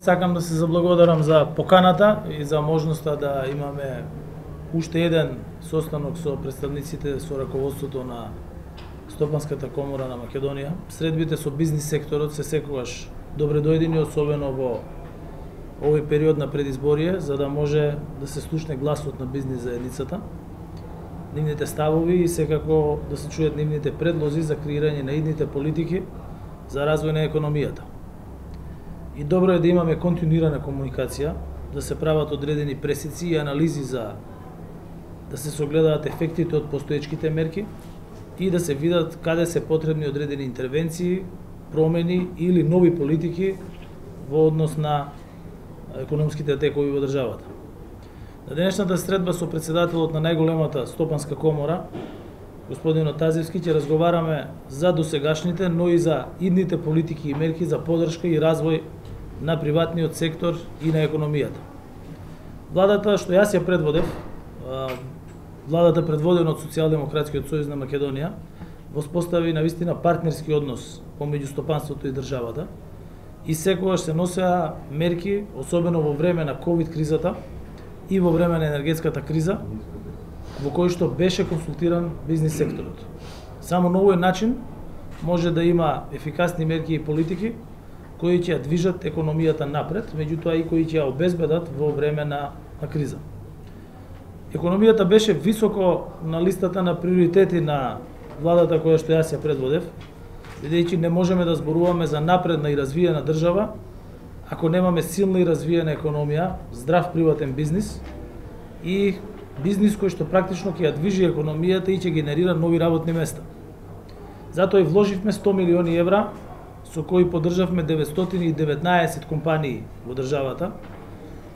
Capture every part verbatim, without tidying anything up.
Сакам да се заблагодарам за поканата и за можноста да имаме уште еден состанок со представниците со раководството на Стопанската комора на Македонија. Средбите со бизнис секторот се секогаш добре дојдени, особено во овој период на предизборие, за да може да се слушне гласот на бизнис заедницата, нивните ставови и секако да се чујат нивните предлози за креирање на идните политики за развој на економијата. И добро е да имаме континуирана комуникација, да се прават одредени пресици и анализи за да се согледаат ефектите од постоечките мерки и да се видат каде се потребни одредени интервенции, промени или нови политики во однос на економските текови во државата. На денешната средба со претседателот на најголемата Стопанска комора, господин Отазевски, ќе разговараме за досегашните, но и за идните политики и мерки за поддршка и развој на приватниот сектор и на економијата. Владата што јас ја предводев, владата предводена од Социјалдемократскиот сојуз на Македонија, воспостави навистина партнерски однос помеѓу стопанството и државата и секогаш се носеа мерки, особено во време на ковид кризата и во време на енергетската криза, во кој што беше консултиран бизнис секторот. Само на овој начин може да има ефикасни мерки и политики кои ќе ја движат економијата напред, меѓутоа и кои ќе ја обезбедат во време на, на криза. Економијата беше високо на листата на приоритети на владата која што јас ја предводев, бидејќи не можеме да зборуваме за напредна и развиена држава ако немаме силна и развиена економија, здрав приватен бизнис и бизнис кој што практично ќе ја движи економијата и ќе генерира нови работни места. Затоа и вложивме сто милиони евра со кои поддржавме деветстотини и деветнаесет компании во државата.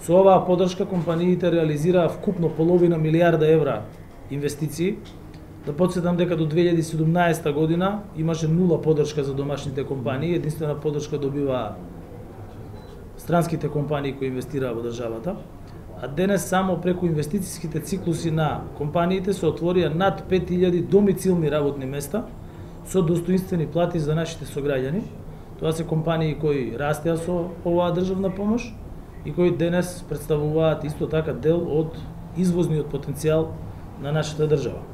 Со оваа поддршка компаниите реализираа вкупно половина милијарда евра инвестиции. Да потсетам дека до две илјади и седумнаесета година имаше нула поддршка за домашните компании, единствена поддршка добиваа странските компании кои инвестираа во државата. А денес само преку инвестицијските циклуси на компаниите се отворија над пет илјади домицилни работни места со достоинствени плати за нашите сограѓани. Тоа се компании кои растеа со оваа државна помош и кои денес представуваат исто така дел од извозниот потенцијал на нашата држава.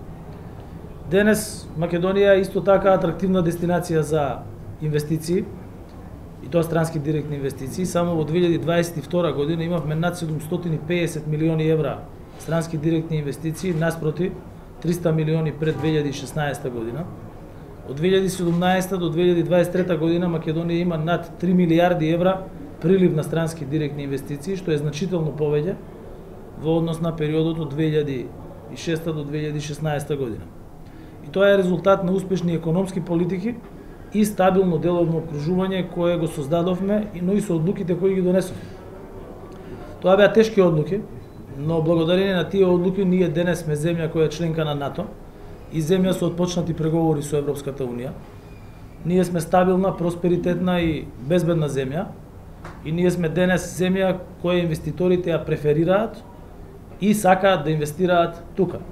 Денес Македонија е исто така атрактивна дестинација за инвестиции, и тоа странски директни инвестиции. Само во две илјади дваесет и втора година имавме над седумстотини и песет милиони евра странски директни инвестиции, наспроти триста милиони пред две илјади и шеснаесета година. Од две илјади и седумнаесета до две илјади и дваесет и трета година Македонија има над три милијарди евра прилив на странски директни инвестиции, што е значително повеќе во однос на периодот од две илјади и шеста до две илјади и шеснаесета година. И тоа е резултат на успешни економски политики и стабилно деловно окружување кое го создадовме, но и со одлуките кои ги донесовме. Тоа беа тешки одлуки, но благодарение на тие одлуки ние денес сме земја која е членка на НАТО и земја со отпочнати преговори со Европската унија. Ние сме стабилна, просперитетна и безбедна земја и ние сме денес земја која инвеститорите ја преферираат и сакаат да инвестираат тука.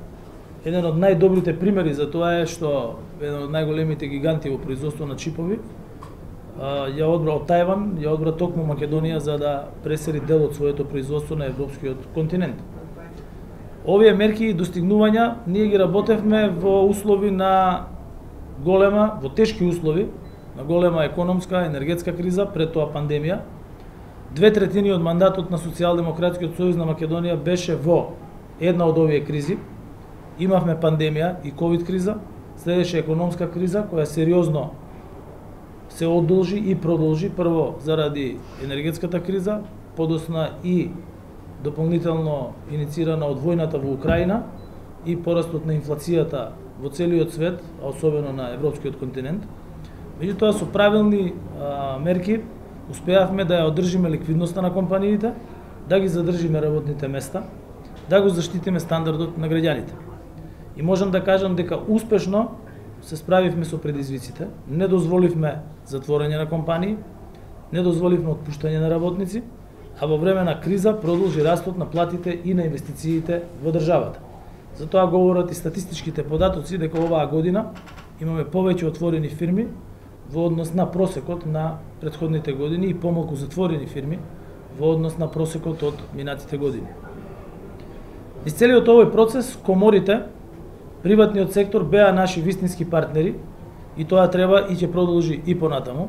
Еден од најдобрите примери за тоа е што еден од најголемите гиганти во производство на чипови ја одбра од Тајван, ја одбра токму Македонија за да пресели дел од своето производство на европскиот континент. Овие мерки и достигнувања ние ги работевме во услови на голема, во тешки услови, на голема економска, енергетска криза, пред тоа пандемија. Две третини од мандатот на Социјалдемократскиот сојуз на Македонија беше во една од овие кризи. Имавме пандемија и ковид криза, следеше економска криза која сериозно се одолжи и продолжи, прво заради енергетската криза, подосна и дополнително иницирана од војната во Украина и порастот на инфлацијата во целиот свет, а особено на европскиот континент. Меѓутоа со правилни а, мерки успеавме да ја одржиме ликвидноста на компаниите, да ги задржиме работните места, да го заштитиме стандардот на граѓаните. И можам да кажам дека успешно се справивме со предизвиците, не дозволивме затворање на компании, не дозволивме отпуштање на работници, а во време на криза продолжи растот на платите и на инвестициите во државата. Затоа говорат и статистичките податоци дека оваа година имаме повеќе отворени фирми во однос на просекот на претходните години и помалку затворени фирми во однос на просекот од минатите години. Низ целиот овој процес, коморите, приватниот сектор беа наши вистински партнери и тоа треба и ќе продолжи и понатаму.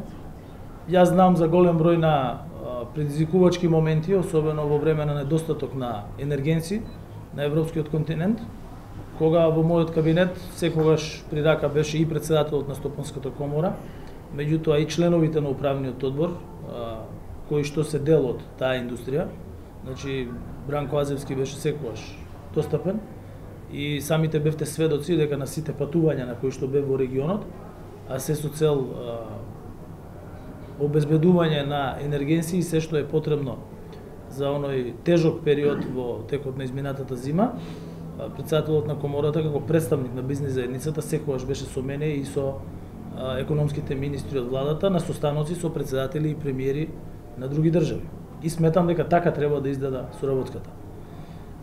Јас знам за голем број на предизвикувачки моменти, особено во време на недостаток на енергенци на европскиот континент, кога во мојот кабинет секогаш при рака беше и председателот на Стопанската комора, меѓутоа и членовите на управниот одбор, кои што се дел од таа индустрија. Значи, Бранко Азевски беше секогаш достапен и самите бевте сведоци дека на сите патувања на кои што бев во регионот, а се со цел а, обезбедување на енергенци и се што е потребно за оној тежок период во текот на изминатата зима, председателот на комората како представник на бизнис заедницата секогаш беше со мене и со а, економските министри од владата на состаноци со председатели и премиери на други држави. И сметам дека така треба да изгледа соработката.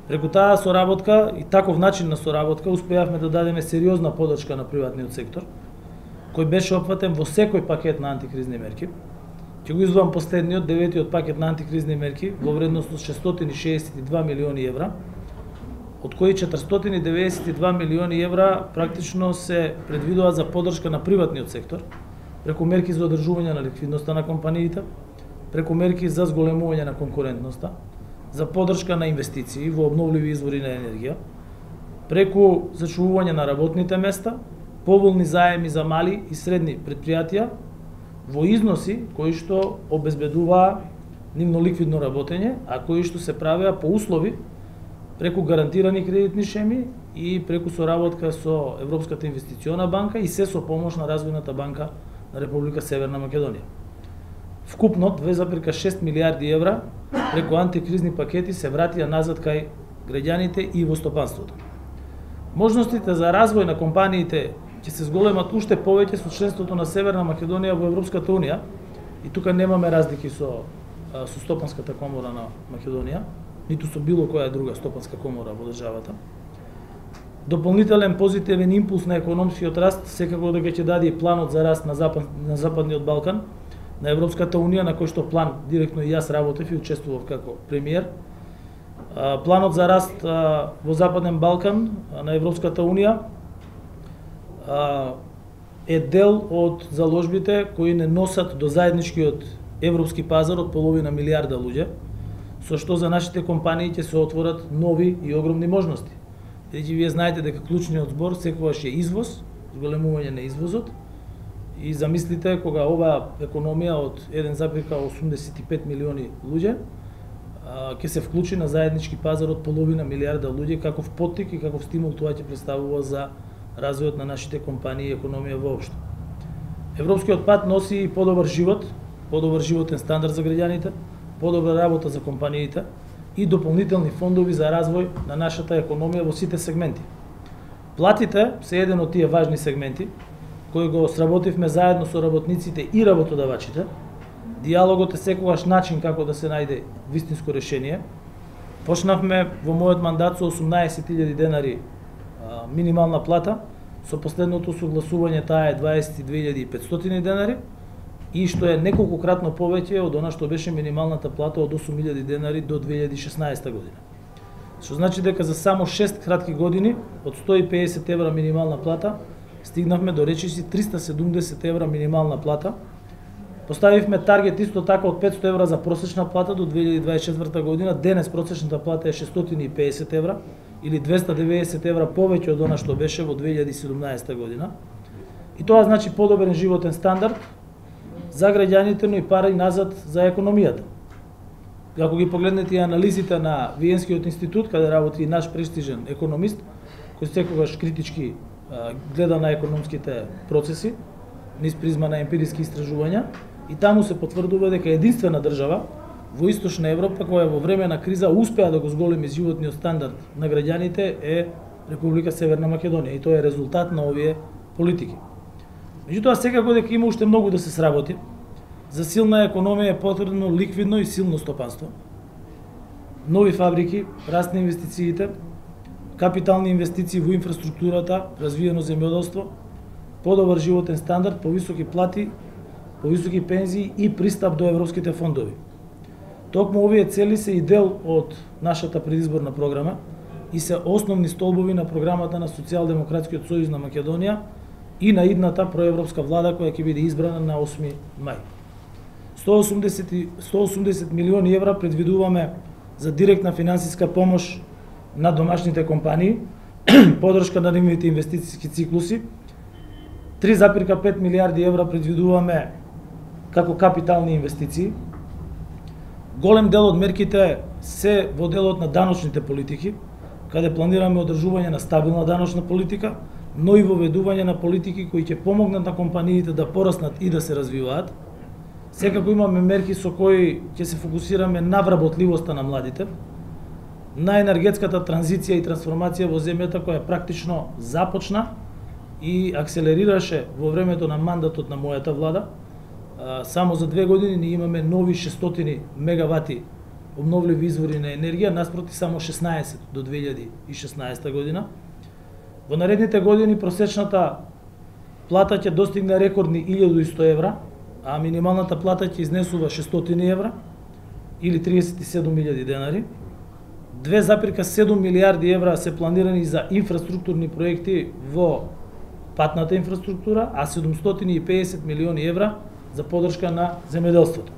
Преку таа соработка и таков начин на соработка успеавме да дадеме сериозна подршка на приватниот сектор, кој беше опфатен во секој пакет на антикризни мерки. Ќе го издвоам последниот, деветиот пакет на антикризни мерки во вредност од шестстотини шеесет и два милиони евра, од кои четиристотини деветдесет и два милиони евра практично се предвидува за подршка на приватниот сектор, преку мерки за одржување на ликвидноста на компаниите, преку мерки за зголемување на конкурентноста, за подршка на инвестиции во обновливи извори на енергија, преку зачувување на работните места, поволни заеми за мали и средни предпријатија во износи кои што обезбедуваа нивно ликвидно работење, а кои што се правеа по услови преку гарантирани кредитни шеми и преку соработка со Европската инвестициона банка и се со помош на Развојната банка на Република Северна Македонија. Вкупно две запирка шест милијарди евра преку антикризни пакети се вратија назад кај граѓаните и во стопанството. Можностите за развој на компаниите ќе се зголемат уште повеќе со членството на Северна Македонија во Европската унија и тука немаме разлики со, со Стопанската комора на Македонија, ниту со било која друга стопанска комора во државата. Дополнителен позитивен импулс на економскиот раст секако дека ќе даде и планот за раст на, запад, на Западниот Балкан, на Европската унија, на кој што план директно и јас работев и учествував како премиер. Планот за раст во Западен Балкан на Европската унија е дел од заложбите кои не носат до заедничкиот европски пазар од половина милијарда луѓе, со што за нашите компании ќе се отворат нови и огромни можности. Бидејќи вие знаете дека клучниот збор секогаш е извоз, зголемување на извозот, и замислите кога оваа економија од еден запирка осумдесет и пет милиони луѓе ќе се вклучи на заеднички пазар од половина милијарда луѓе, каков поттик и каков стимул тоа ќе представува за развојот на нашите компании и економија воопшто. Европскиот пат носи и подобар живот, подобар животен стандард за граѓаните, подобра работа за компаниите и дополнителни фондови за развој на нашата економија во сите сегменти. Платите се еден од тие важни сегменти кој го сработивме заедно со работниците и работодавачите. Диалогот е секогаш начин како да се најде вистинско решение. Почнавме во мојот мандат со осумнаесет илјади денари а, минимална плата, со последното согласување таа е дваесет и две илјади и петстотини денари и што е неколкократно повеќе од она што беше минималната плата од осум илјади денари до две илјади и шеснаесета година. Што значи дека за само шест кратки години од сто и педесет евра минимална плата стигнавме до речиси триста седумдесет евра минимална плата. Поставивме таргет исто така од петсто евра за просечна плата до две илјади дваесет и четврта година. Денес просечната плата е шестстотини и педесет евра или двеста и деветдесет евра повеќе од она што беше во две илјади и седумнаесета година. И тоа значи подобрен животен стандард за граѓаните, но и пари назад за економијата. Ако ги погледнете и анализите на Виенскиот институт, каде работи и наш престижен економист, кој секогаш критички гледа на економските процеси, низ призма на емпириски истражувања, и таму се потврдува дека единствена држава во Источна Европа која во време на криза успеа да го зголеми животниот стандард на граѓаните е Република Северна Македонија и тоа е резултат на овие политики. Меѓутоа секако дека има уште многу да се сработи. За силна економија е потребно ликвидно и силно стопанство. Нови фабрики, раст на инвестициите, капитални инвестиции во инфраструктурата, развиено земјоделство, подобар животен стандард, повисоки плати, повисоки пензии и пристап до европските фондови. Токму овие цели се и дел од нашата предизборна програма и се основни столбови на програмата на Социјалдемократскиот сојуз на Македонија и на идната проевропска влада која ќе биде избрана на осми мај. сто и осумдесет милиони евра предвидуваме за директна финансиска помош на домашните компании, подршка на нивните инвестициски циклуси. три запирка пет милиарди евра предвидуваме како капитални инвестиции. Голем дел од мерките се во делот на даночните политики, каде планираме одржување на стабилна даночна политика, но и воведување на политики кои ќе помогнат на компаниите да пораснат и да се развиваат. Секако имаме мерки со кои ќе се фокусираме на вработливоста на младите, на енергетската транзиција и трансформација во земјата која практично започна и акселерираше во времето на мандатот на мојата влада. Само за две години ние имаме нови шестстотини мегавати обновливи извори на енергија, наспроти само шеснаесет до две илјади и шеснаесета година. Во наредните години просечната плата ќе достигне рекордни илјада и сто евра, а минималната плата ќе изнесува шестстотини евра или триесет и седум илјади денари. две запирка седум милиарди евра се планирани за инфраструктурни проекти во патната инфраструктура, а седумстотини и педесет милиони евра за подршка на земјоделството.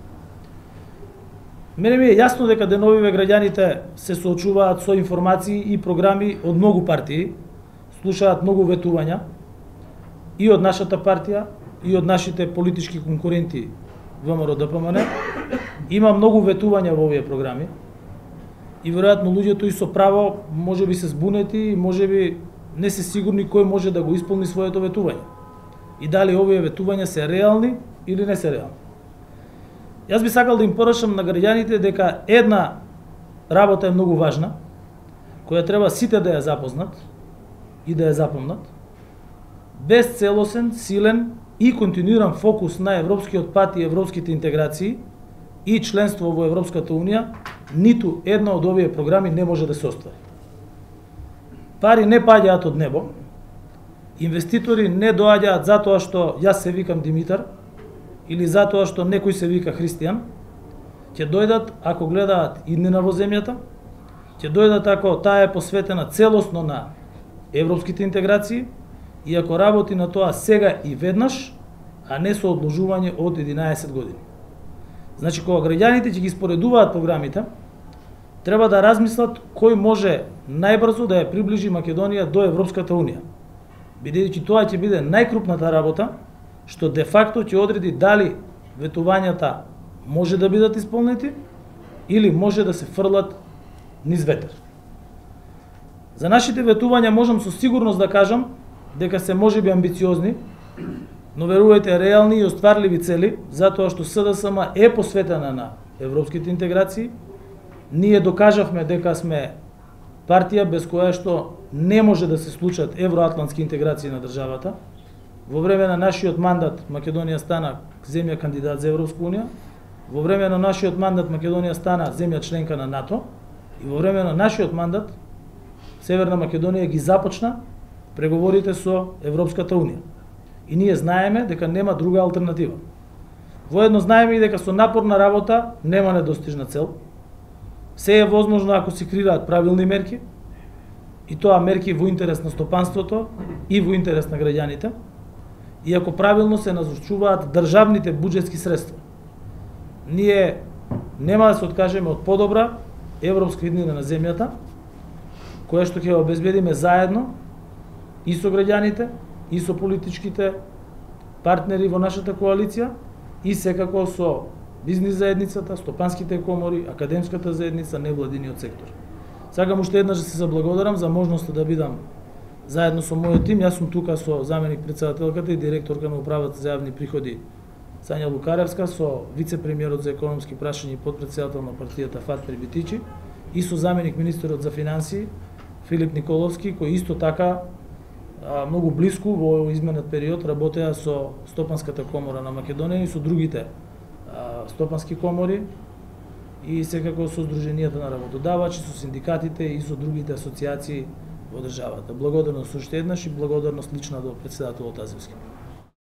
Мене ми е јасно дека деновиве граѓаните се соочуваат со информации и програми од многу партии, слушаат многу ветувања и од нашата партија, и од нашите политички конкуренти ВМРО Д П М Н. Има многу ветувања во овие програми и веројатно луѓето и со право може би се збунети и може би не се сигурни кој може да го исполни своето ветување. И дали овие ветувања се реални или не се реални. Јас би сакал да им порачам на граѓаните дека една работа е многу важна, која треба сите да ја запознат и да ја запомнат. Без целосен, силен и континуиран фокус на европскиот пат и европските интеграции и членство во Европската Унија, ниту една од овие програми не може да се оствари. Пари не паѓаат од небо, инвеститори не доаѓаат затоа што јас се викам Димитар или затоа што некој се вика Христијан. Ќе дојдат ако гледаат иднина во земјата, ќе дојдат ако таа е посветена целосно на европските интеграции и ако работи на тоа сега и веднаш, а не со одложување од единаесет години. Значи, кога граѓаните ќе ги споредуваат програмите, треба да размислат кој може најбрзо да ја приближи Македонија до Европската Унија, бидејќи тоа ќе биде најкрупната работа, што де факто ќе одреди дали ветувањата може да бидат исполнети или може да се фрлат низ ветер. За нашите ветувања можам со сигурност да кажам дека се можеби амбициозни, но верувајте реални и остварливи цели, затоа што С Д С М е посветена на европските интеграции. Ние докажавме дека сме партија без која што не може да се случат евроатлантски интеграции на државата. Во време на нашиот мандат Македонија стана земја кандидат за Европска Унија, во време на нашиот мандат Македонија стана земја членка на НАТО и во време на нашиот мандат Северна Македонија ги започна преговорите со Европската Унија. И ние знаеме дека нема друга алтернатива. Воедно знаеме и дека со напорна работа нема недостижна цел. Се е возможно ако се креираат правилни мерки, и тоа мерки во интерес на стопанството и во интерес на граѓаните, и ако правилно се назначуваат државните буџетски средства. Ние нема да се откажеме од подобра европска иднина на земјата, која што ќе обезбедиме заедно и со граѓаните, и со политичките партнери во нашата коалиција, и секако со бизнис заедницата, стопанските комори, академската заедница, невладиниот сектор. Сакам уште еднаш да се заблагодарам за можноста да бидам заедно со мојот тим. Јас сум тука со заменик претседателката и директорка на управата за јавни приходи Сања Лукаревска, со вице-премиерот за економски прашања и подпредседател на партијата Фат Прибитичи и со заменик министерот за финансии Филип Николовски, кој исто така многу блиску во изменет период работеа со Стопанската комора на Македонија и со другите стопански комори и секако со Сдруженијата на работодавачи, со синдикатите и со другите асоциации во државата. Благодарност уште еднаш и благодарност лична до претседателот Азевски.